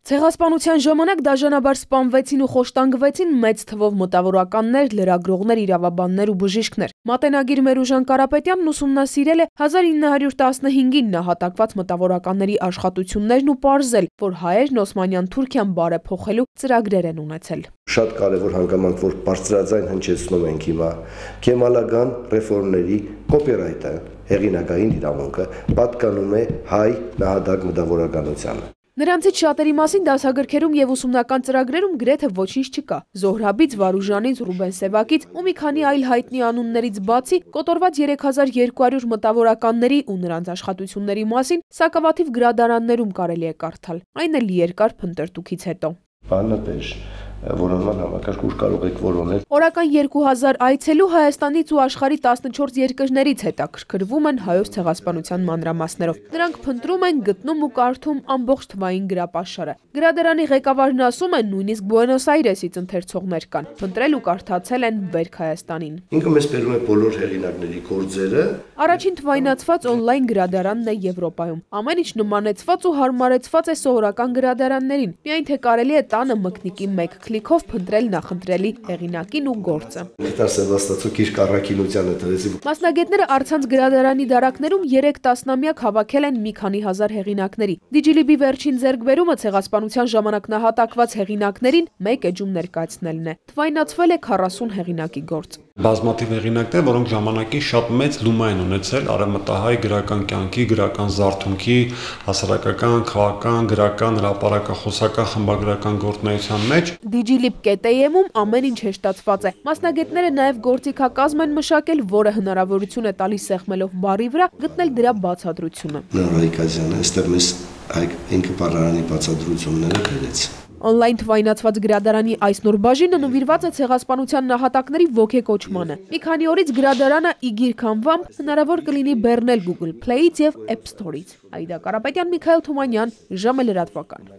Ցեղասպանության ժամանակ դաժանաբար սպանվեցին ու խոշտանգվեցին մեծ թվով մտավորականներ, լրագրողներ, իրավաբաններ ու բժիշկներ։ Մատենագիր Մերուժան Կարապետյանն ուսումնասիրել է 1915-ին նահատակված մտավորականների աշխատություններն ու պարզել, որ հայերն Օսմանյան Թուրքիան բարեփոխելու ծրագրեր են ունեցել։ Շատ կարևոր հանգամանք, որ բարձրաձայն հնչեցնում ենք հիմա, Քեմալական ռեֆորմների կոպիրայթը, հեղինակային իրավունքը պատկանում է հայ նահատակ մտավորականությանը։ Նրանցից շատերի մասին դասագրքերում եւ ուսումնական ծրագրերում գրեթե ոչինչ չկա։ Զոհրաբից, Վարուժանից, Ռուբեն Սևակից ու մի քանի այլ հայտնի անուններից բացի կոտորված 3200 մտավորականների ու նրանց աշխատությունների մասին սակավաթիվ գրադարաններում կարելի է կարդալ։ Այն էլ երկար փնտրտուքից հետո։ Բանատեր որոնման համակարգ ուր կարող եք որոնել։ Օրական 2000 այցելու Հայաստանից ու աշխարհի 14 երկրներից հետաքրքրվում են հայոց ցեղասպանության մանրամասներով։ Նրանք փնտրում են, գտնում ու կարդում ամբողջ թվային գրապաշարը։ Գրադարանի ղեկավարն ասում է, նույնիսկ Բուենոս Այրեսից ընթերցողներ կան։ Փնտրել ու կարդացել են Բերք Հայաստանին։ Ինքը մեզ բերում է բոլոր հեղինակների գործերը։ Առաջին թվայնացված օնլայն գրադարանն է Եվրոպայում։ Ամեն ինչ նմանեցված ու հարմարեցված է սովորական գրադարաններին։ Միայն թե կարելի է տանը մկնիկի մեկ քլիքով փնտրել նախընտրելի հեղինակին ու գործը։ Մասնագետները առցանց գրադարանի դարակներում 3 տասնամյակ հավաքել են մի քանի հազար հեղինակների։ Դիջիլիբի վերջին ձեռքբերումը ցեղասպանության ժամանակ նահատակված հեղինակներին մեկ էջում ներկայացնելն է։ Թվայնացվել է 40 հեղինակի գործ։ Բազմաթիվ հեղինակներ, որոնք ժամանակին շատ մեծ լումա են ունեցել արևմտահայ գրական կյանքի, գրական զարթոնքի, հասարակական, քաղաքական, գրական, հրապարակախոսական, խմբագրական գործունեության մեջ։ Digilib.am-ում ամեն ինչ հեշտացված է։ Մասնագետները նաև գործիքակազմ են մշակել, որը հնարավորություն է տալիս սեղմելով բառի վրա գտնել դրա բացատրությունը։ Հայկ Ազյանը այստեղ մեզ ինքը բառարանի բացատրությունները բերեց։ Օնլայն թվայնացված գրադարանի այս նոր բաժինը նվիրված է ցեղասպանության նահատակների ոգեկոչմանը։ Մի քանի օրից գրադարանը իգիր քանվամբ հնարավոր կլինի բեռնել Google Play-ից եւ App Store-ից։ Այդա Կարապետյան, Միքայել Թումանյան, ժամը լրատվական։